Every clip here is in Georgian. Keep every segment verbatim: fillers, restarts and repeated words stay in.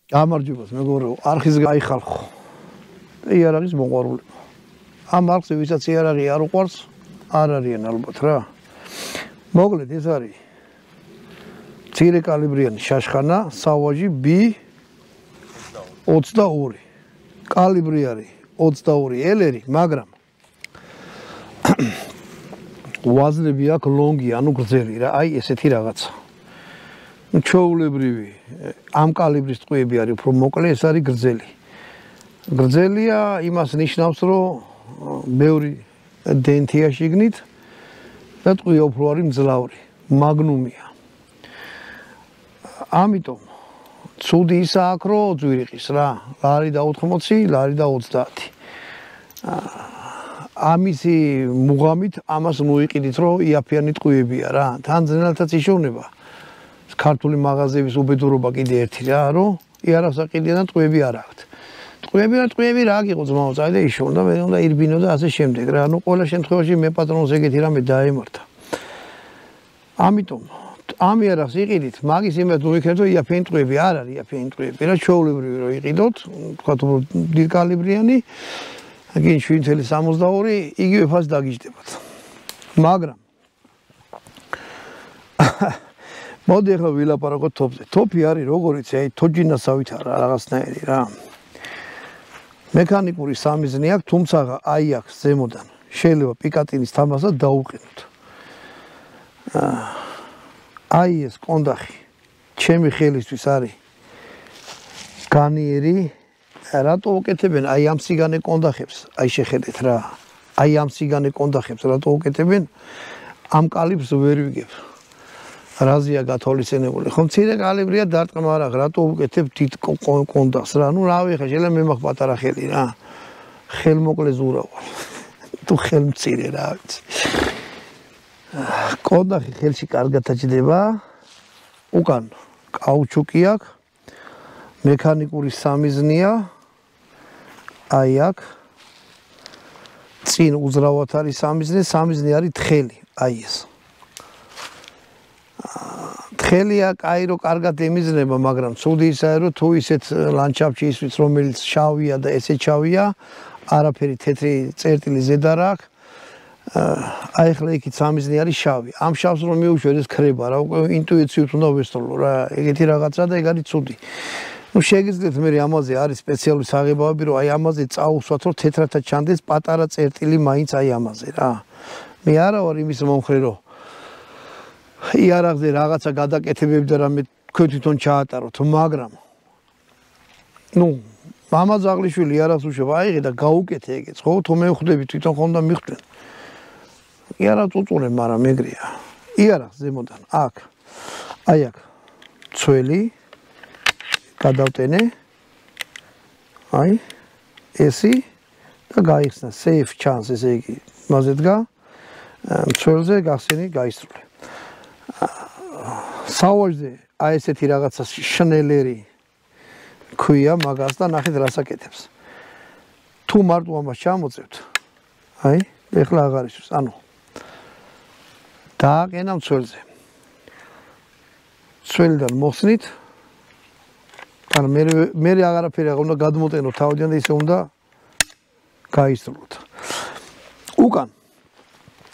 გამარჯობათ მეგობრებო, არხის გაიხალხო. იარაღის მოყვარული. ამ არხზე ვისაც იარაღი არ უყვარს, არ არიან ალბათ რა. მოკლედ ეს არის მცირე კალიბრიანი შაშხანა, სავაჟი B ოცდაორი. კალიბრი არის ოცდაორი ელერი, მაგრამ ვაზნები აქვს ლონგი, ანუ გრძელი რა, აი ესეთი რაღაცა. ჩვეულებრივი ამ კალიბრის ტყვიები არის უფრო მოკლე, ეს არის გრძელი. გრძელია იმას ნიშნავს, რომ ბევრი დენთია შიგნით და ტყვია უფრო არის მძლავრი, მაგნუმია. ამიტომ ცუდი ისა აქვს, რომ ძვირიყის რა, ლარი და ოთხმოცი, ლარი და ოცდაათი. ამისი მუღამით ამას მოიყიდით, რომ იაფიანი ტყვიებია რა. თან ძნელთაც იშოვნება. ქართული მაღაზიების უბედურობა კიდე ერთი რა, რომ იარაღს აყიდიან და ტყვიები არ აქვთ. ტყვიები და ტყვიები რა გიყო ძმაო, წაი და იშოვო და მე უნდა ირბინო და ასე შემდეგ რა. ანუ ყველა შემთხვევაში მე პატრონს ეგეთი რამე დაემართა. ამიტომ ამ იარაღს იყიდით, მაგის იმედ მოიქნებთ, რომ იაფიანი ტყვიები არ არის, იაფიანი ტყვიები რა, ჩვეულებრივი რომ იყიდოთ, თქვათ უფრო დიდ კალიბრიანი, გინ შვიდ ათეული სამოცდაორი, იგივე ფასს დაგიჯდებათ. მაგრამ მოდი ახლა ვილაპარაკოთ თოპზე. თოპი არის როგორიც, აი თოჯინასავით არა რაღაცნაირი რა. მექანიკური სამიზნე აქვს, თუმცა აი აქვს ზემოდან. შეიძლება პიკატინის თამასად დაუყენოთ. აი ეს კონდახი ჩემი ხელისთვის არის განიერი. რატო უკეთებენ აი ამ სიგანე კონდახებს? აი შეხედეთ რა. აი ამ სიგანე კონდახებს რატო უკეთებენ? ამ კალიბრს ვერ ვიგებ. რაზია გათვალისწინებული. ხო მცირე კალიბრია დარტყმა არა, რატო უკეთებ დიდ კონდახს რა. ნუ რავი ხა შეიძლება მე მაქვს პატარა ხელი რა. ხელმოკლე ზურავარ. თუ ხელმცირე რა ვიცი. კონდახი ხელში კარგად აჭდება. უკან კაუჩუკი აქვს. მექანიკური სამიზნეა. აი აქ. წინ უძრავად არის სამიზნე, სამიზნე არის თხელი, აი ეს. თხელია კაირო კარგად ემიზნება, მაგრამ ცუდი ისაა, რომ თუ ისეთ ლანდშაფტში ისვიც, რომელიც შავია და ესე ჩავია, არაფერი თეთრი წერტილი ზედა რა აქვს. აი ახლა იქით სამიზნე არის შავი. ამ შავს რომ მიუშვერ ეს ქრება რა, უკვე ინტუიციით უნდა ვესწავლო რა. ეგეთი რაღაცა და ეგ არის ცუდი. ნუ შეგიძლიათ მე ამაზე არის სპეციალური საღებავები, რომ აი ამაზე წაუსვათ, რომ თეთრათა ჩანდეს პატარა წერტილი მაინც აი ამაზე რა. მე არა ვარ იმის მომხრე, რომ იარაღზე რაღაცა გადაკეთებები და რამე თქვენ თვითონ ჩაატაროთ, მაგრამ ნუ მამა ზაღლიშვილი იარაღს უშვებ, აიღე და გაუკეთე ეგეც, ხო? თუ მე ვხვდები თვითონ ხომ და მიხვდნენ. იარაღს უწურებ, მაგრამ ეგრეა. იარაღს ზემოდან აქ. აი აქ. ცველი გადავტენე. აი ესი და გაიხსნა safe chance, ესე იგი, მასე დგა. ცველზე გახსენი, გაისრულე. სავაჟზე აი ესეთი რაღაცა შნელერი ქვია მაგას და ნახეთ რას აკეთებს. თუ მარტო ამას ჩამოწევთ, აი, ეხლა აღარ ისვს, ანუ დააყენა მცველზე. მცველიდან მოხსნით, ანუ მე მე აღარაფერი აღარ უნდა გადმოტენო თავიდან და ისე უნდა გაისრულოთ. უკან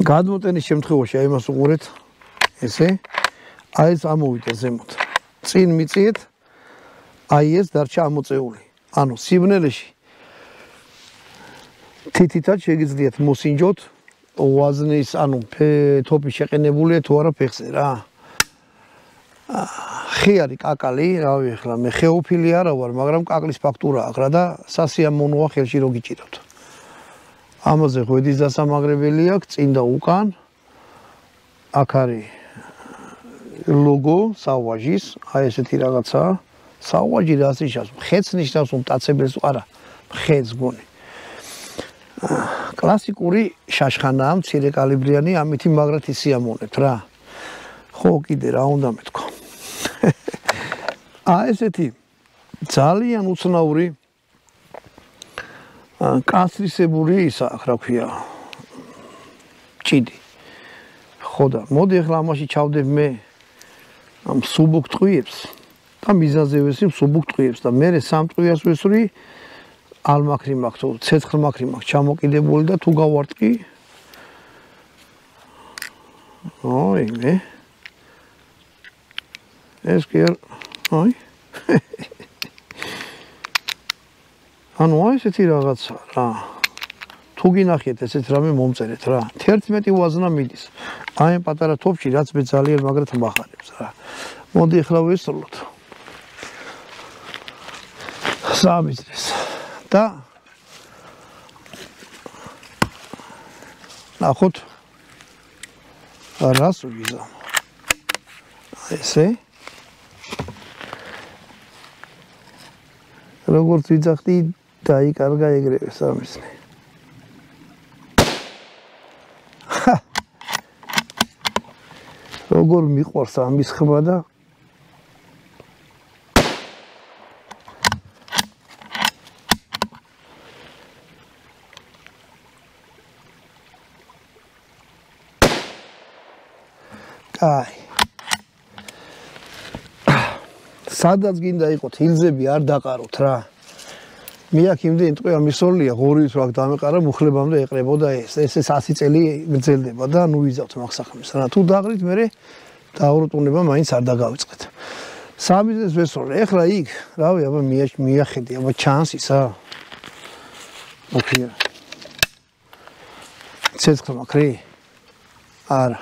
გადმოტენის შემთხვევაში აი მას უყურეთ, ესე აი ეს ამოვიდა ზემოთ. წინ მიწიეთ, აი ეს დარჩა ამოწეული. ანუ სიბნელეში თითითაც შეგიძლიათ მოსინჯოთ ვაზნის, ანუ თოპი შეყენებულია თუ არა ფეხზე რა. ხე არის კაკალი, რავი ახლა მე ხეოფილი არა ვარ, მაგრამ კაკლის ფაქტურა აქვს რა და სასიამოვნოა ხელში რო გიჭიროთ. ამაზე ღვედის დასამაგრებელი აქვს წინ და უკან. აქ არის ლოგო სავაჟის, აი ესეთი რაღაცა. სავაჟი რას ნიშნავს? ხეც ნიშნავს, რომ მტაცებელს არა, ხეც გონი. კლასიკური შაშხანაა, მცირე კალიბრიანი, ამითი მაგრად ისიამოვნებთ რა. ხო, კიდე რა უნდა მეთქვა. აი ესეთი ძალიან უცნაური კასრისებური ისა აქვს, რა ქვია, ჭიდი. ხო და მოდი ახლა ამაში ჩავდებ მე ამ სუბუქ ტყვიებს და მიზანზე ვესი მსუბუქ ტყუებს და მე სამ ტყუას ვესვრი ალმაქრი მაქვს თუ ცეცხლმაქრი მაქვს ჩამოკიდებული და თუ გავარტყი ოი მე ეს კი ოი ანუ ესეთი რაღაცა რა თუ გინახეთ ესეთ რამე მომწერეთ რა თერთმეტი ვაზნა მიდის აი ამ პატარა თოფში რაც მე ძალიან მაგრად მახარებს რა მოდი ახლა ვისწავლოთ სამიზრეს და ნახოთ რას ვიზამ ესე როგორც ვიძახდი დაიკარგა ეგრევე სამიზნე როგორ მიყვარს ამის ხმა და აი სადაც გინდა იყოთ ჰილზები არ დაყაროთ რა მე აქ იმდენი ტყვია მისოლია ღორით რა დამეყარა მუხლებამდე ეყრებოდა ეს ეს ასი წელი გრძელდება და ნუ ვიზავთ მაგსახმეს რა თუ დაღრით მე დაურტუნება მაინც არ დაგავიწყეთ სამიზნეს ვესწავლე ეხლა იქ რავი აბა მიახედი აბა ჩანს ისა ოკეი ცეცხლმაქრი არა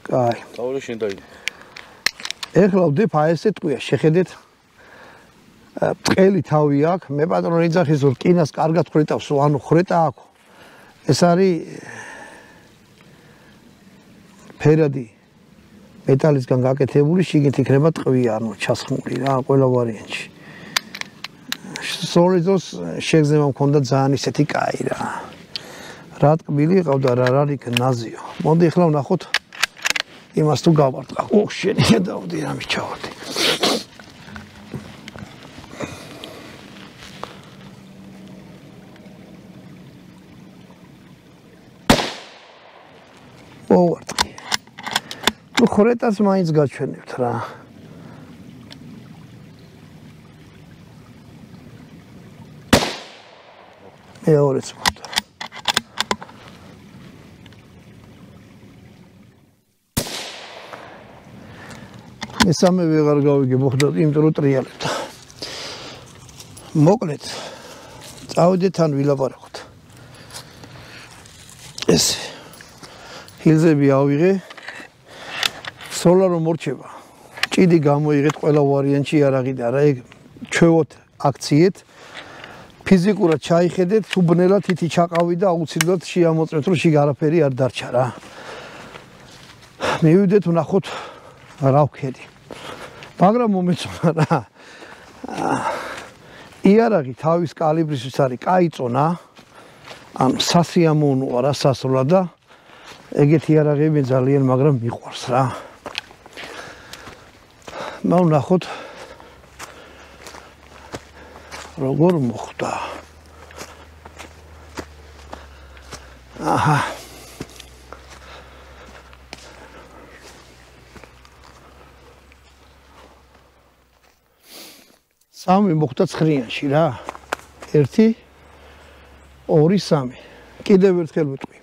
კაი თავი შენ დაი ეხლა ვდებ აი ესე ტყვია შეხედეთ წელი თავი აქვს მე პატრონი ძახის რომ კინას კარგად ხრეტავს ანუ ხრეტა აქვს ეს არის ფერადი მეტალისგან გაკეთებული შიგნით იქნება ტყვია ანუ ჩასხმული რა ყველა ვარიანტში სოლიდოს შეგზება მქონდა ძალიან ისეთი კაი რა რა ტკბილი ყავდა რა რა იქ ნაზიო მოდი ახლა ვნახოთ იმას თუ გავარტყა ო შენი დავდი რა მიჩავდი ვარტყი ნუ ხორეტას მაინც გაჩვენებთ რა მეორეც მოხდა მესამე ვეღარ გავიგე მოხდა იმიტომ რომ ტრიალებდა მოკლედ წავიდეთ ან ვილაპარაკოთ ეს ჰილზები ავიღე სოლარო მორჩება ჭიდი გამოიღეთ ყველა ვარიანტში არაღი და რა ეგ ჩვევოთ აქციეთ ფიზიკურად ჩაიხედეთ თუ ბნელად თითი ჩაყავი და აუცილებლად შეამოწმეთ რომ შიგ არაფერი არ დარჩა რა მივიდეთ ვნახოთ რა ვქედი მაგრამ მომეწონა რა იარაღი თავის კალიბრისთვის არის კაი წონა ან სასიამოვნოა რა სასრულად და ეგეთი იარაღები ძალიან მაგრამ მიყვარს რა მოვნახოთ როგორ მოხდა აჰა სამი მოხდა ცხრიანში რა ერთი ორი სამი კიდევ ერთხელ ვიტყვი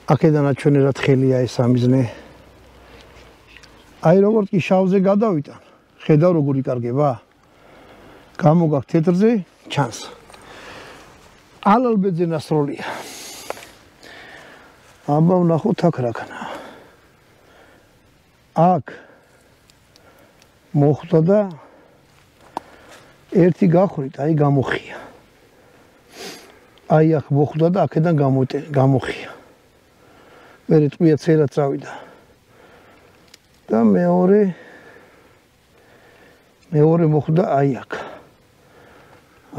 აქედან აჩვენერად ხელია ეს სამიზნე აი როგორც კი შავზე გადავიტან ხედავ როგორ იკარგება გამოგაქ თეთრზე ჩანს ალალბეძე ნასროლია აბა ვნახოთ აქ რა ქნა აქ მოხდა და ერთი გახრით აი გამოხია აი აქ მოხდა და აქედან გამოხია მერე ტყვია წერა წავიდა და მეორე მეორე მოხდა აი აქ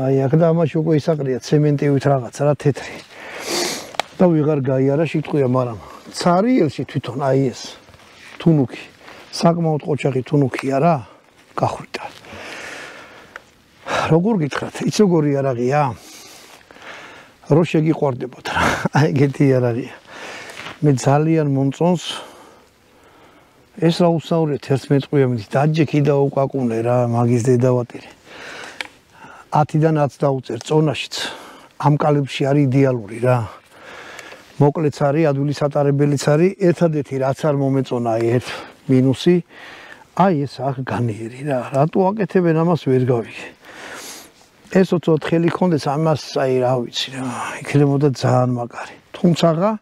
აი აქ და ამაში უკვე ისაყრია ცემენტივით რაღაც რა თეთრი და ვიღარ გაიარა შიტყვია მაგრამ ცარიელში თვითონ აი ეს თუნუქი საკმაოდ ყოჩაღი თუნუქია რა გახვიდა როგორ გითხრათ იც როგორი იარაღია რო შეგიყვარდებოდ რა აი ეგეთი იარაღია მე ძალიან მომწონს ეს რა უცნაურია თერთმეტ წვიებით დაჯექი და უკაკუნე რა მაგის დედავატირი ათიდან ათს დაუწერ წონაშიც ამ კალიბრში არის იდეალური რა მოკლეც არის ადვილის ატარებელიც არის ერთადერთი რაც არ მომეწონა ერთ მინუსი აი ეს აქ განიერი რა რატო აკეთებენ ამას ვერ გავიგე ეს ოთხ ხელი ქონდეს ამას აი რა ვიცი რა იქნებოდა ძალიან მაგარი თუმცა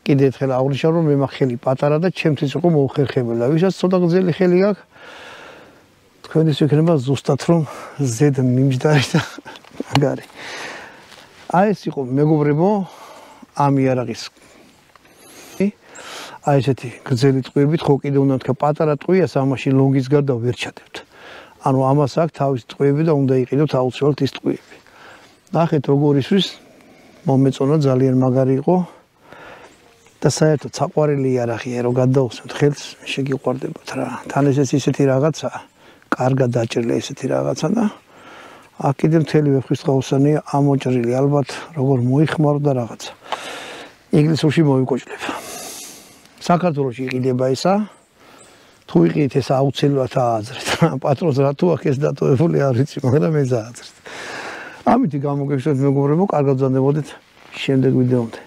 კიდე ერთხელ აღნიშნავ რომ მე ხელი პატარა და ჩემთვის იყო მოუხერხებელი და ვისაც ცოტა გრძელი ხელი აქვს თქვენთვის იქნება ზუსტად რომ ზედ მიმჯდარი და მაგარი აი ეს იყო მეგობრებო ამ იარაღის აი ესეთი გრძელი ტყვიებით ხო კიდე უნდა თქვა პატარა ტყვიას ამაში ლონგის გარდა ვერ ჩადებთ ანუ ამას აქვს თავის ტყვიები და უნდა იყიდოთ აუცილებლად ის ტყვიები ნახეთ როგორ ისვის მომეწონა ძალიან მაგარი იყო და საერთოდ საყვარელი იარაღია რომ გადაუსმოთ ხელს შეგიყვარდებათ რა თან ეს ისეთი რაღაცა კარგად დაჭრილი ესეთი რაღაცა და აქ კიდე მთელი ვეფხისტყაოსანია ამოჭრილი ალბათ როგორ მოიხმარო და რაღაცა ინგლისურში მოვიკოჭლებ საქართველოში იყიდება ისა თუ იყიდეთ ეს აუცილებლად ააზრეთ პატრონს რა თუ აქ ეს დატოვებული არ ვიცი მაგრამ ეს ააზრეთ ამით გამოგეშვათ მეგობრებო კარგად ვზანდებოდეთ შემდეგ ვიდეომდე